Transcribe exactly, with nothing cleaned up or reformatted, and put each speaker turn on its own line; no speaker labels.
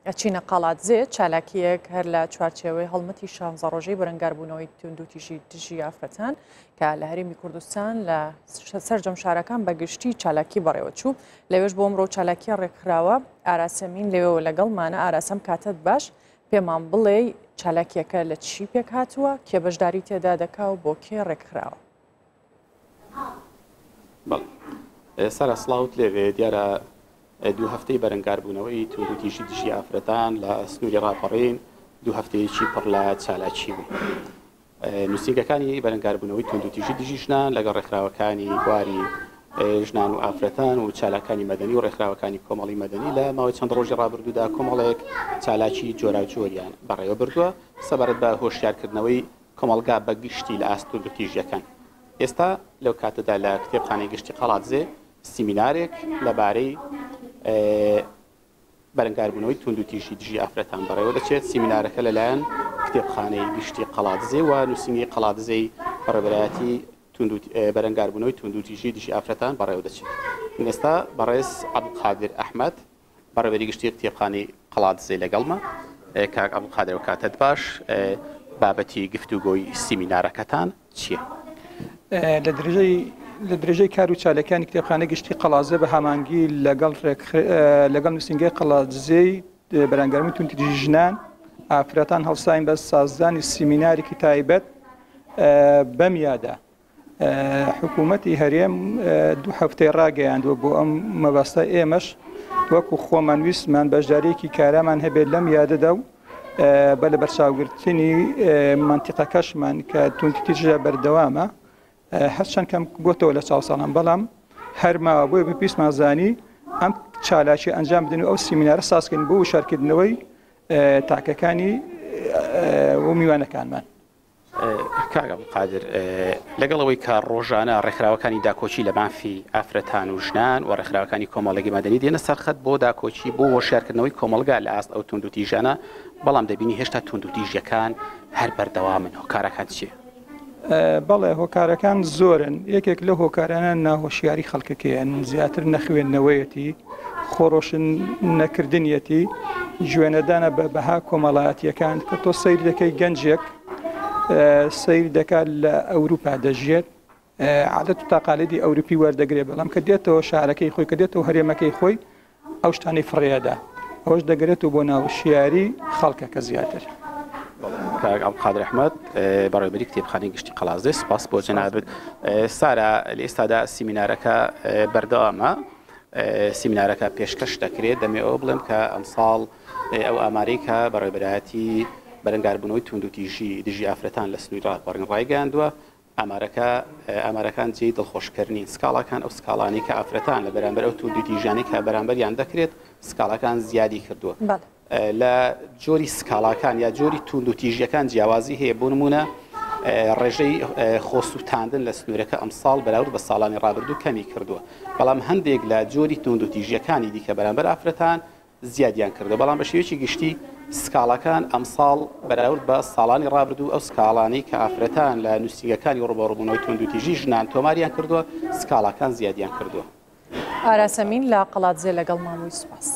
ئەچینە قەڵادزێ، چالاکیەک هەر لە چوارچێوەی هەڵمەتی شانزە ڕۆژەی بەرەنگاربوونەوەی توندوتیژی دژی ئافرەتان کە لە هەرێمی کوردستان لە سەرجەم شارەکان بە گشتی چالاکی بەڕێوەچوو. لەوێش بۆ ئەمڕۆ چالاکیە ڕێکخراوە. ئاراسەمین لەوێوە لەگەڵمانە. ئاراسەم، کاتت باش، پێمان بڵێ چالاکیەکە لە چی پێک هاتووە، کێ بەشداری تێدا دەکا و بۆ کێ ڕێکخراوە؟
سارا سڵاوت لێبێ. دیارە دوو هەفتەی بەرەنگاربوونەوەی توندوتیژی دژی ئافرەتان لە سنووری ڕاپەڕین دوو هەفتەیەکی پڕ لە چالاکی بوو. نووسینگەکانی بەرەنگاربوونەوەی توندوتیژی دژی ژنان لەگەڵ ڕێکخراوەکانی بواری ژنان و ئافرەتان و چالاکانی مەدەنی و ڕێکخراوەکانی کۆمەڵی مەدەنی لە ماوەی چەند ڕۆژی ڕابردوودا کۆمەڵێک چالاکی جۆراوجۆریان بەڕێوە بردووە سەبارەت بە هۆشیارکردنەوەی کۆمەڵگا بە گشتی لە ئاست توندوتیژیەکان. ئێستا لەو کاتەدا لە کتێبخانەی گشتی قەڵادزێ سیمینارێک لەبارەی بەرەنگاربوونەوەی توندوتیژی دژی ئافرەتان بەڕێوە دەچێت. سیمینارەکە لەلایەن کتێبخانەی گشتی قەڵادزێ و نووسینگەی قەڵادزێی بەڕێوەبەرایەتی بەرەنگاربوونەوەی توندوتیژی دژی ئافرەتان بەڕێوە دەچێت. ئێستا بەڕێز عەبدولقادر ئەحمەد بەڕێوەبەری گشتی کتێبخانەی قەڵادزێ لەگەڵمە. کاک عەبدولقادر، کاتت باش. بابەتی گفتوگۆی سیمینارەکەتان چییە؟
لە درێژەی لە درێژەی کار و چالاکیانی کتێبخانەی گشتی قەڵادزێ بە هەمانگی لەگەڵ لەگەڵ نووسینگەی قەڵادزێی بەرەنگاربوونەوەی توندوتیژی ژنان ئافرەتان هەڵساین بە سازدانی سیمینارێکی تایبەت بەم یادە. حکوومەتی هەرێم دوو هەفتەی ڕاگەیاندووە بۆ ئەم مەبەستە. ئێمەش وەکو خۆمان ویستمان بەشداریەکی کارامان هەبێت لەم یادەدا و بە لە بەرچاوگرتنی مەنتیقەکەشمان کە توندوتیژە بەردەوامە، هەرچەند کەم بۆتەوە لە چاو ساڵان، بەڵام هەرماوە. بۆیە بە پێویستمان زانی ئەم چالاکی ئەنجام بدەین و ئەو سیمینارە سازکردن بۆ وشارکردنەوەی تاکەکانی و میوانەکانمان.
کاک عەبدولقادر، لەگەڵ ئەوەی کە ڕۆژانە ڕێکخراوەکانی داکۆکی لە مافی ئافرەتان و ژنان و ڕێکخراوەکانی کۆمەڵگەی مەدەنی دێنە سەرخەت بۆ داکۆکی بۆ هۆشیارکردنەوەی کۆمەڵگا لە ئاست ئەو توندوتیژانە، بەڵام دەبینی هێشتا توندوتیژیەکان هەر بەردەوامن. هۆکارەکان چییە؟
بەڵێ، هۆکارەکان زۆرن. یەکێک لە هۆکارانە ناهۆشیاری خەڵکەکەیان، زیاتر نەخوێندنەوەیەتی، خۆڕۆشن نەکردنیەتی، گوێنەدانە بە بەها کۆمەڵایەتیەکان. کە تۆ سەیر دەکەی گەنجێک سەیر دەکات لە ئەوروپا دەژێت، عادەت و تاقالێدی ئەوروپی وەردەگرێت، بەڵام کە دێتەوە شارەکەی خۆی، کە دێتەوە هەرێمەکەی خۆی، ئەو شتانەی فڕێدا. ئەوەش دەگرێتەوە بۆ ناوشیاری خەڵکەکە زیاتر.
کاک عەبدولقادر ئەحمەد بەڕێوەبەری کتێبخانەی گشتی قەڵادزێ، سپاس بۆ جەنابت. سارا، لە ئێستادا سیمینارەکە بەردەوامە، سیمینارەکە پێشکەش دەکرێت. دەمێ ئەوە بڵێم کە ئەمساڵ ئەو ئامارەی کە بەڕێوەبەرایەتی بەرەنگاربوونەوەی توندوتیژی دژی ئافرەتان لە سنووری ڕاپەڕین ڕایگەیاندووە، ئامارەکە ئامارەکان جێی دڵخۆشکەر نین. سکاڵاکان، ئەو سکاڵانەی کە ئافرەتان لە بەرامبەر ئەو توندوتیژیانەی کە بەرامبەریان دەکرێت، سکاڵاکان زیادی کردووە. لە جۆری سکاڵاکان یا جۆری توندوتیژیەکان جیاوازی هەیە. بۆ نمونە ڕێژەی خۆسووتاندن لە سنوورەکە ئەمساڵ بەراورد بە ساڵانی ڕابردوو کەمی کردووە، بەڵام هەندێک لە جۆری توندوتیژیەکانی دیکە بەرامبەر ئافرەتان زیادیان کردو. بەڵام بە شێوەیەکی گشتی سکاڵاکان ئەمساڵ بەراورد بە ساڵانی ڕابردوو، ئەو سکاڵانەی کە ئافرەتان لە نووسینگەکانی ڕووبەڕووبوونەوەی توندوتیژی ژنان تۆماریان کردووە، سکاڵاکان زیادیان کردووە.
ئاراسەمین لە قەڵادزێ لەگەڵ مامووی، سوپاس.